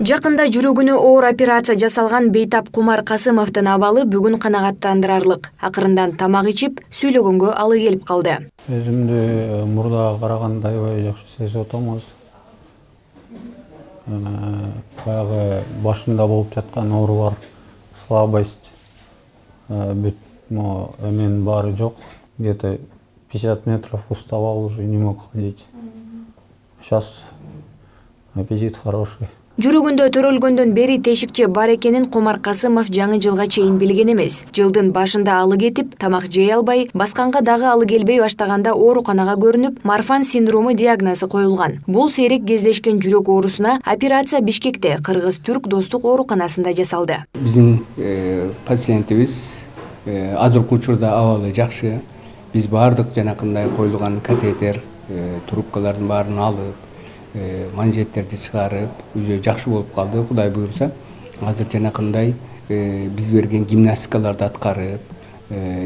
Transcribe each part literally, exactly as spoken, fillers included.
Жакында жүрөгүнө оор операция жасалган Бейтап Кумар Касымовдун абалы бүгүн канагаттандырарлык. Акырындан тамак ичип, сүйлөгөнгө алы келип калды. Өзүмдү мурдага караганда аябай жакшы сезип атамыз. Баягы башында болуп жаткан оорулар, слабость, бүт эмен баары жок. Где-то пятьдесят метров уставал, уже не мог ходить. Сейчас аппетит хороший. Жүрөгүндө төрөлгөндөн бери тешикче бар экенин Кумар Касымов жаңы жылга чейин билген эмес. Жылдын башында алы кетип, тамак жей албай, басканга дагы алы келбей баштаганда ооруканага көрүнүп, Марфан синдрому диагнозу коюлган. Бул сейрек кездешкен жүрөк оорусуна операция Бишкекте, Кыргыз-Түрк достук ооруканасында жасалды. Биздин пациентибиз азыркы учурда абалы жакшы. Биз баардык жанакындай коюлган катетер, трубкалардын баарын алып, манжеттерди чыгарып, өзү жакшы болуп калды. Кудай буйрса, азыр жанакындай биз берген гимнастикаларды аткарып,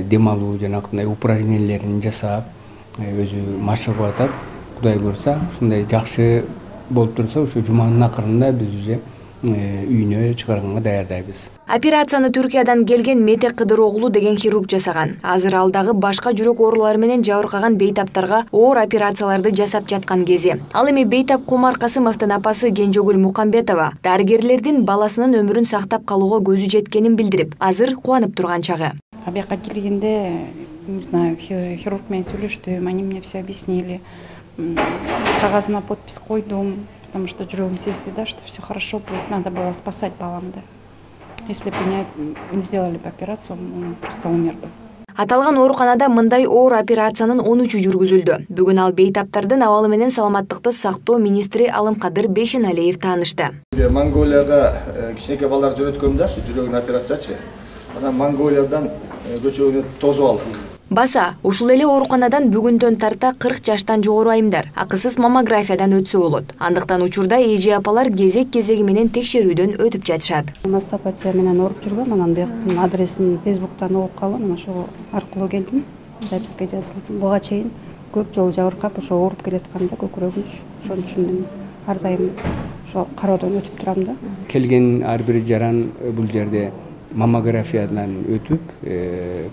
дем алуу жанакындай упражнениялерин жасап, өзү машыгып атат. Кудай буйрса, ушундай жакшы болуп турса, ошо жуманын акырында биз уже үйүнө чыгарганга даярдайбыз. Операцияны Түркиядан келген Мете Кыдыроглу деген хирург жасаган. Азыр ал дагы башка жүрөк оорулары менен жабыркаган бейтаптарга оор операцияларды жасап жаткан кези. Ал эми Бейтап Кумар Касымовдун апасы Кенжегүл Мукамбетова дарыгерлердин баласынын өмүрүн сактап калууга көзү жеткенин билдирип, азыр кубанып турган чагы. Абияка келгенде, не знаю, хирург менен сүйлөштүм, они мне все объяснили. Кагазыма подпись койдум, потому что жүрөгүм сезди, да, что все хорошо будет, надо было спасать баламды. Если бы не сделали бы операцию, он просто умер бы. Аталган ооруканада мындай оор операциянын он үчү жүргүзүлдү. Бүгүн ал бейтаптардын абалы менен саламаттыкты сактоо министри Алымкадыр Бейшеналиев таанышты. Монголияга кичинекей балдар жөнөткөм да, жүрөгүн операциячы. Анан Монголиядан көчөгүнү тосуп алдым. Баса, ушул эле ооруканадан бүгүндөн тарта кырк жаштан жогору айымдар акысыз маммографиядан өтсө болот. Андыктан учурда эже апалар кезек-кезеги менен текшерүүдөн өтүп жатышат. Мастопатия менен ооруп жүргөм, анан бияктын адресин Фейсбуктан угуп калдым, ошол аркылуу келдим. Записка жаздым. Буга чейин көп жолу жабыркап, ошо ооруп келатканда көкүрөгүм, ошон үчүн ар дайым ошо кароодон өтүп турам да. Келген ар бир жаран бул жерде маммографиядан өтүп,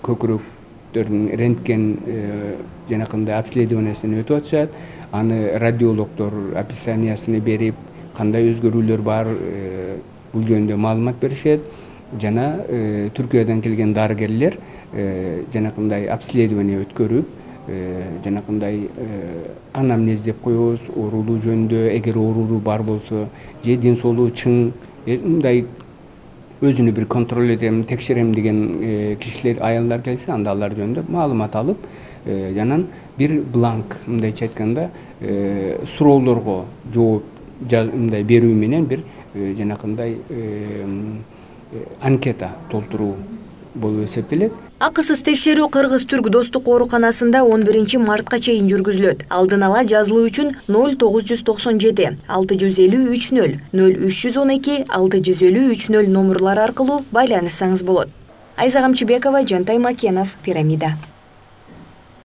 көкүрөк рентген жанакындай обследованиясынан өтүп атышат. Аны радиологдор описаниясын берип, кандай өзгөрүүлөр бар, бул жөнүндө маалымат беришет. Жана Түркиядан келген дарыгерлер жанакындай обследование өткөрүп, жанакындай анамнез деп коебуз, оорулуу жөнүндө, эгер оорулуу бар болсо, же ден соолугу чың, мындай өзүнү бир контроль этем, текшерем деген кишилер, аялдар келсе, анда алар жөнүндө маалымат алып, жанан бир бланк, мындайча айтканда, суроолорго жооп мындай берүү менен бир жанакындай анкета толтуруу болуп эсептелет. Акысыз текшерүү Кыргыз-Түрк достук ооруканасында он биринчи мартка чейин жүргүзүлөт. Алдын ала жазылуу үчүн ноль тогуз жүз токсон жети алты жүз элүү үч ноль ноль үч жүз он эки алты жүз элүү үч ноль номурлары аркылуу байланышсаңыз болот. Айза Камчыбекова, Жантай Макенов, Пирамида.